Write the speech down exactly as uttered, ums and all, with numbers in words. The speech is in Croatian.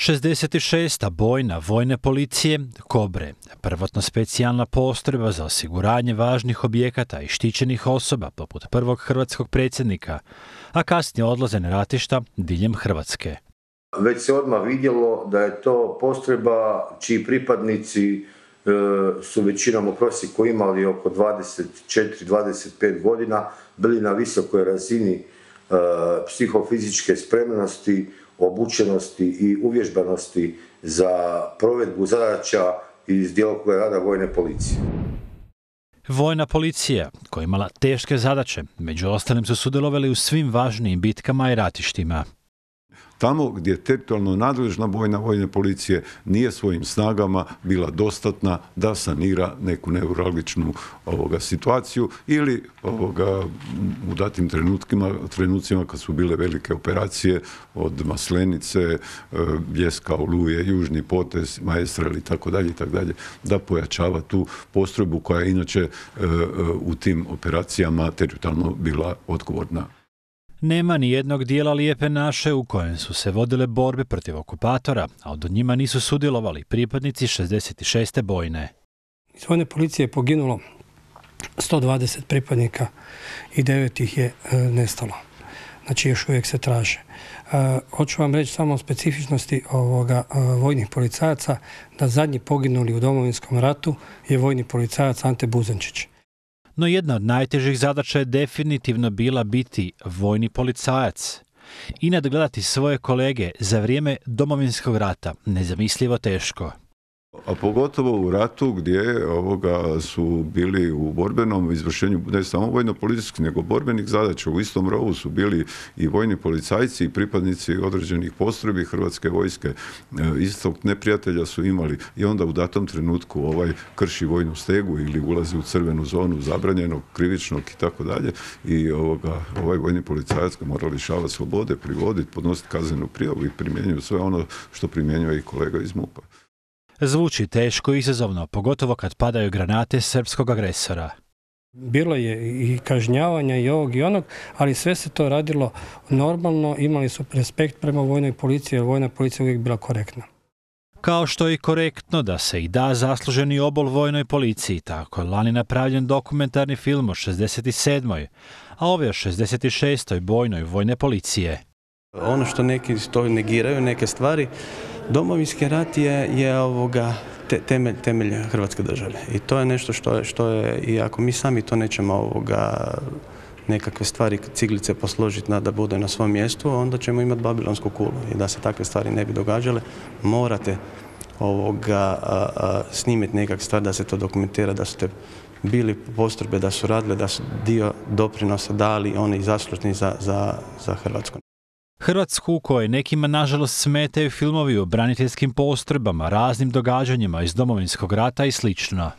šezdeset šesta bojna vojne policije Kobre, prvotno specijalna postrojba za osiguranje važnih objekata i štićenih osoba poput prvog hrvatskog predsjednika, a kasnije odlaze na ratišta diljem Hrvatske. Već se odmah vidjelo da je to postrojba čiji pripadnici e, su većinom u prosjeku imali oko dvadeset četiri do dvadeset pet godina, bili na visokoj razini e, psihofizičke spremnosti, obučenosti i uvježbanosti za provedbu zadaća iz djelokruga rada vojne policije. Vojna policija, koja je imala teške zadaće, među ostalim su sudjelovali u svim važnijim bitkama i ratištima. Tamo gdje teritorijalno nadležna vojna vojne policije nije svojim snagama bila dostatna da sanira neku neuralgičnu ovoga situaciju ili ovoga u datim trenutkima, trenucima kad su bile velike operacije od Maslenice, Bljeska, Oluje, Južni potez, Maestral i tako dalje i tako dalje, da pojačava tu postrojbu koja je inače u tim operacijama teritorijalno bila odgovorna. Nema ni jednog dijela Lijepe naše u kojem su se vodile borbe protiv okupatora, a od njima nisu sudjelovali pripadnici šezdeset šeste bojne. Iz vojne policije je poginulo sto dvadeset pripadnika i devet ih je e, nestalo. Znači još uvijek se traže. E, hoću vam reći samo o specifičnosti ovoga e, vojnih policajaca, da zadnji poginuli u Domovinskom ratu je vojni policajac Ante Buzenčić. No jedna od najtežih zadaća je definitivno bila biti vojni policajac i nadgledati svoje kolege za vrijeme Domovinskog rata, nezamislivo teško. A pogotovo u ratu gdje ovoga su bili u borbenom izvršenju ne samo vojno-policijskih nego borbenih zadaća. U istom rovu su bili i vojni policajci i pripadnici određenih postrojbi Hrvatske vojske. Istog neprijatelja su imali i onda u datom trenutku ovaj krši vojnu stegu ili ulazi u crvenu zonu zabranjenog, krivičnog i tako dalje. I ovoga, ovaj vojni policajac ga mora lišavati slobode, privoditi, podnositi kaznenu prijavu i primjenjuju sve ono što primjenjuje i kolega iz MUP-a. Zvuči teško i izazovno, pogotovo kad padaju granate srpskog agresora. Bilo je i kažnjavanja i ovog i onog, ali sve se to radilo normalno, imali su respekt prema vojnoj policiji, jer vojna policija uvijek bila korektna. Kao što je i korektno da se i da zasluženi obol vojnoj policiji, tako je lani napravljen dokumentarni film o šezdeset sedmoj, a ovaj o šezdeset šestoj bojnoj vojne policije. Ono što neki to negiraju, neke stvari, Domovinski rat je, je ovoga te, temelj, temelj Hrvatske države i to je nešto što je, što je, i ako mi sami to nećemo ovoga nekakve stvari, ciglice posložiti na, da bude na svom mjestu, onda ćemo imati babilonsku kulu i da se takve stvari ne bi događale, morate ovoga a, a, snimiti nekakve stvari da se to dokumentira, da su te bili postrojbe, da su radile, da su dio doprinosa dali oni zaslužni za, za, za Hrvatsku. Hrvatsku u kojoj nekima nažalost smetaju filmovi o braniteljskim postrojbama, raznim događanjima iz Domovinskog rata i slično.